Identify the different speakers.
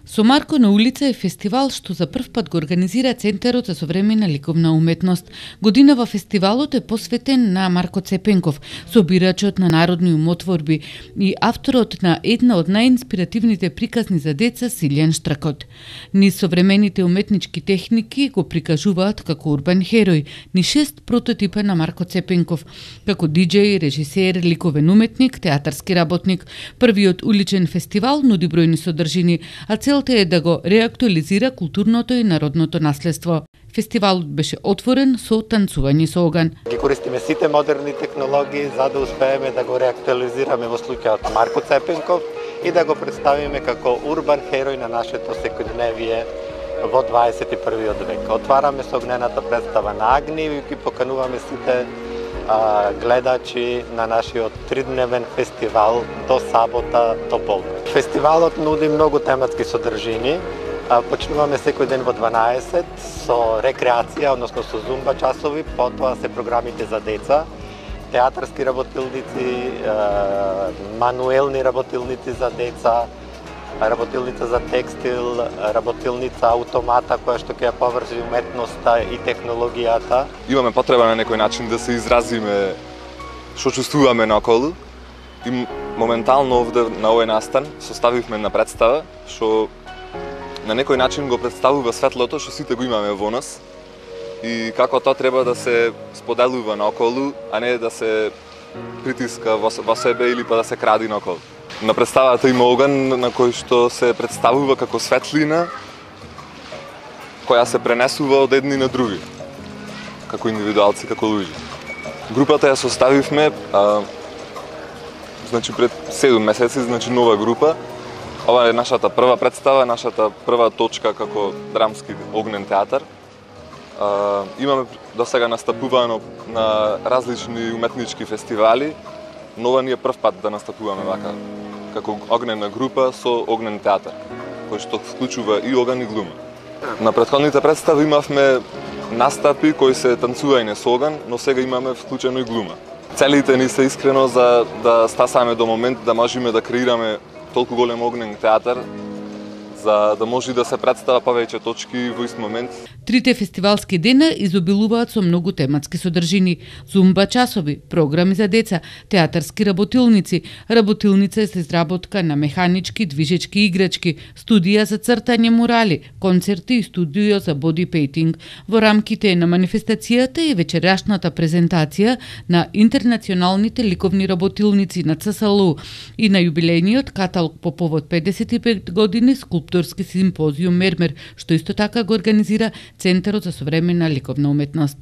Speaker 1: Со Марко на улица е фестивал што за прв пат го организира Центарот за современа ликовна уметност. Годинава фестивалот е посветен на Марко Цепенков, собирачот на народни умотворби и авторот на една од најинспиративните приказни за деца Силјан Штракот. Низ современите уметнички техники го прикажуваат како урбан херој, ни 6 прототипа на Марко Цепенков, како диџеј, режисер, ликовен уметник, театарски работник. Првиот уличен фестивал нуди бројни содржини, а целта е да го реактуализира културното и народното наследство. Фестивалот беше отворен со танцување со оган.
Speaker 2: Ги користиме сите модерни технологии за да успееме да го реактуализираме во случајот Марко Цепенков и да го представиме како урбан херој на нашето секојдневие во 21. век. Отвараме со огнената представа на Агни и ги покануваме сите гледачи на нашиот 3-дневен фестивал до сабота до полнок. Фестивалот нуди многу тематски содржини. Почнуваме секој ден во 12 со рекреација, односно со зумба часови, потоа се програмите за деца, театарски работилници, мануелни работилници за деца, работилница за текстил, работилница автомата која што ќе ја поврзи уметноста и технологијата.
Speaker 3: Имаме потреба на некој начин да се изразиме што чувствуваме наоколу и моментално овде на овој настан составивме една представа што на некој начин го представува светлото што сите го имаме во нас и како тоа треба да се споделува наоколу, а не да се притиска во себе или па да се кради наоколу. На представата има оган на кој што се представува како светлина која се пренесува од едни на други, како индивидуалци, како луѓе. Групата ја составивме пред 7 месеци, нова група. Ова е нашата прва представа, нашата прва точка како драмски огнен театар. Имаме досега настапувано на различни уметнички фестивали, но ова ни е прв пат да настапуваме вака како огнена група со огнен театар, кој што вклучува и оган и глума. На претходните представи имавме настапи кои се танцување со оган, но сега имаме вклучено и глума. Целите ни се искрено за да стасаме до момент да можеме да креираме толку голем огнен театар, за да може да се представа повеќе точки во ист момент.
Speaker 1: Трите фестивалски дена изобилуваат со многу тематски содржини: зумба часови, програми за деца, театарски работилници, работилница за изработка на механички движечки играчки, студија за цртање мурали, концерти и студио за боди пейтинг. Во рамките на манифестацијата и вечерашната презентација на интернационалните ликовни работилници на ЦСЛУ и на јубилејниот каталог по повод 55 години скулпторски симпозиум Мермер, што исто така го организира Центарот за современа ликовна уметност.